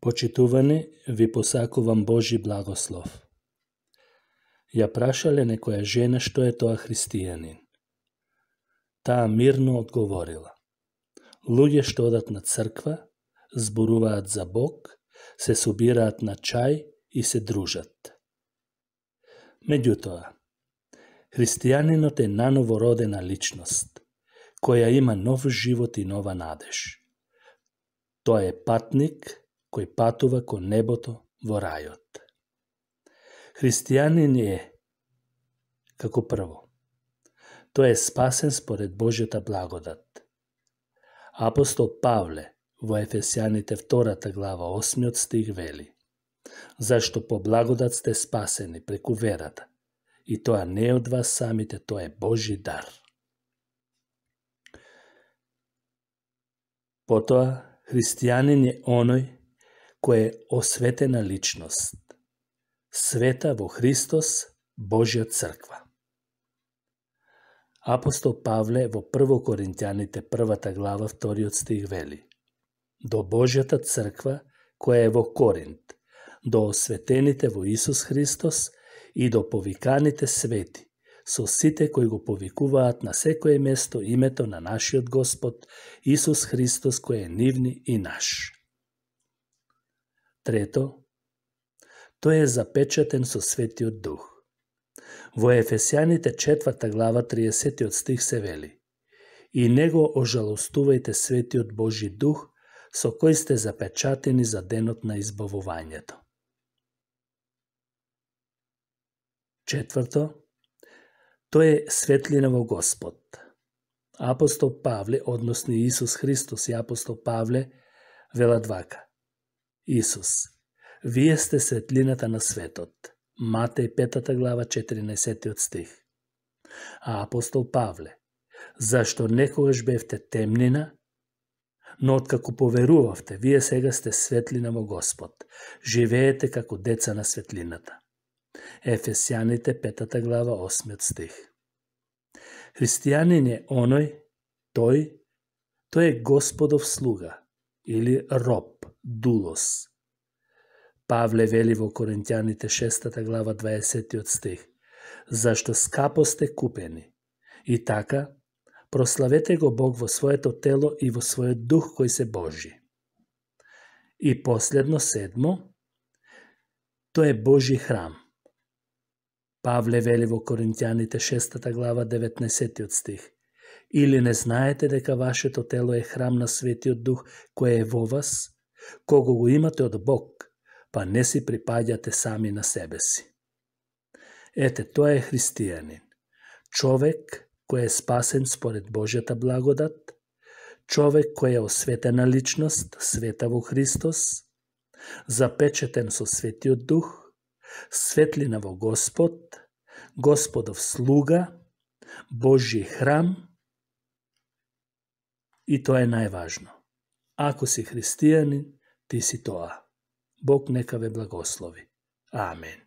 Почитувани, ви посакувам Божи благослов. Ја прашале некоја жена што е тоа христијанин. Таа мирно одговорила: луѓе што одат на црква, зборуваат за Бог, се собираат на чај и се дружат. Меѓутоа, христијанинот е наново родена личност, која има нов живот и нова надеж. Тоа е патник кој патува кон небото во рајот. Христијанин е, како прво, тој е спасен според Божјата благодат. Апостол Павле во Ефесјаните 2 глава 8 стих вели: зашто по благодат сте спасени преку верата, и тоа не е од вас самите, тоа е Божји дар. Потоа, христијанин е оној кој е осветена личност, света во Христос, Божја црква. Апостол Павле во 1 Коринтјаните 1 глава 2 стих вели: до Божјата црква која е во Коринт, до осветените во Исус Христос и до повиканите свети, со сите кои го повикуваат на секое место името на нашиот Господ Исус Христос, кој е нивни и наш. Трето, тој е запечатен со Светиот Дух. Во Ефесјаните 4 глава 30 стих се вели: и него ожалостувајте Светиот Божји Дух, со кој сте запечатени за денот на избавувањето. Четврто, тој е светлина во Господ. Апостол Павле, односно Исус Христос и апостол Павле, велат вака: Исус, вие сте светлината на светот. Матеј 5 глава 14 стих. А апостол Павле: зашто некогаш бевте темнина, но откако поверувавте, вие сега сте светлина во Господ. Живеете како деца на светлината. Ефесјаните 5 глава 8 стих. Христијанин е оној, тој е Господов слуга или роб, дулос. Павле вели во Коринтјаните 6 глава 20 стих: зашто скапо сте купени, и така прославете го Бог во своето тело и во својот дух кој се Божи. И последно, седмо, тој е Божи храм. Павле вели во Коринтјаните 6 глава 19 стих: или не знаете дека вашето тело е храм на Светиот Дух кој е во вас, кого го имате од Бог, па не си припаѓате сами на себе си. Ете, тоа е христијанин. Човек кој е спасен според Божјата благодат, човек кој е осветена личност, света во Христос, запечатен со Светиот Дух, светлина во Господ, Господов слуга, Божји храм, и тоа е најважно. Ако си христијанин, ти си тоа. Бог нека ве благослови. Амен.